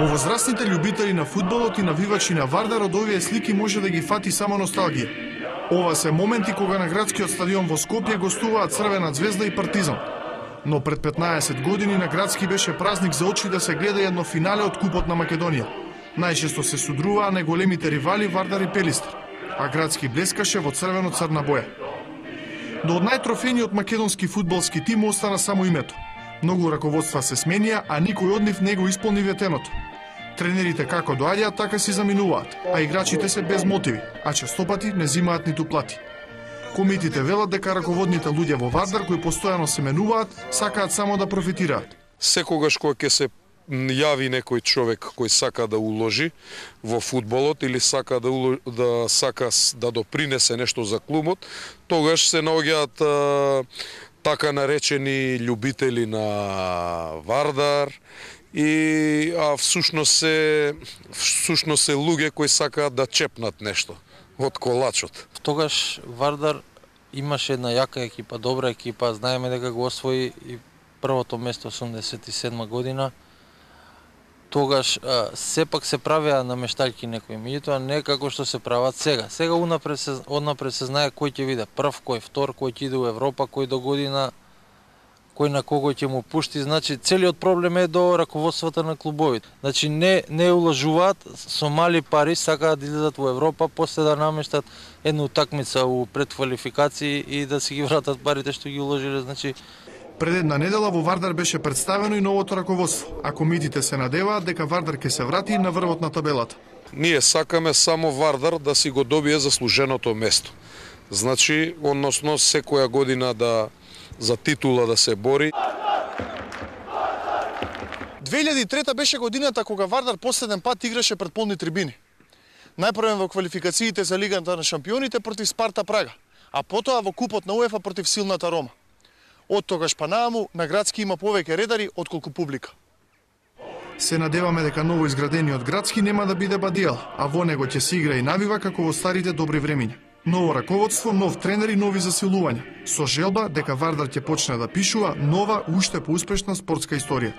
Повозрастните љубители на фудбалот и навивачи на Вардар од овие слики може да ги фати само носталгија. Ова се моменти кога на градскиот стадион во Скопје гостуваат Црвена Звезда и Партизан. Но пред 15 години на градски беше празник за очи да се гледа едно финале од Купот на Македонија. Најчесто се судруваа најголемите ривали Вардар и Пелистер, а градски блескаше во црвено-црна боја. Но од најтрофениот македонски фудбалски тим остана само името. Многу раководства се сменија, а никој од нив не го исполни ветеното. Тренерите како доаѓаат, така си заминуваат, а играчите се без мотиви, а честопати не зимаат ниту плати. Комитите велат дека раководните луѓе во Вардар кои постојано се менуваат, сакаат само да профитираат. Секогаш кога ќе се јави некој човек кој сака да уложи во фудбалот или сака да допринесе нешто за клубот, тогаш се наоѓаат така наречени љубители на Вардар и всушност се луѓе кои сакаат да чепнат нешто од колачот. Тогаш Вардар имаше една јака екипа, добра екипа, знаеме дека го освои и првото место 87 година. Тогаш сепак се правеа намешталки некои, меѓутоа не како што се прават сега. Сега однапред се знае кој ќе биде прв, кој втор, кој ќе иде во Европа, кој до година, кој на кого ќе му пушти. Значи целиот проблем е до раководството на клубовите. Значи не улажуваат, со мали пари сакаат да излезат во Европа, после да намештат една утакмица у предквалификации и да си ги вратат парите што ги уложиле. Значи пред една недела во Вардар беше представено и новото раководство, а комитите се надеваат дека Вардар ќе се врати на врвот на табелата. Ние сакаме само Вардар да си го добие заслуженото место. Значи, односно секоја година за титула да се бори. 2003 беше годината кога Вардар последен пат играше пред полни трибини. Најпрвен во квалификациите за Лигата на шампионите против Спарта Прага, а потоа во Купот на УЕФА против силната Рома. Од тогаш па нааму на градски има повеќе редари отколку публика. Се надеваме дека ново изградениот градски нема да биде бадијал, а во него ќе се игра и навива како во старите добри времиња. Ново раководство, нов тренер и нови засилувања, со желба дека Вардар ќе почне да пишува нова, уште поуспешна спортска историја.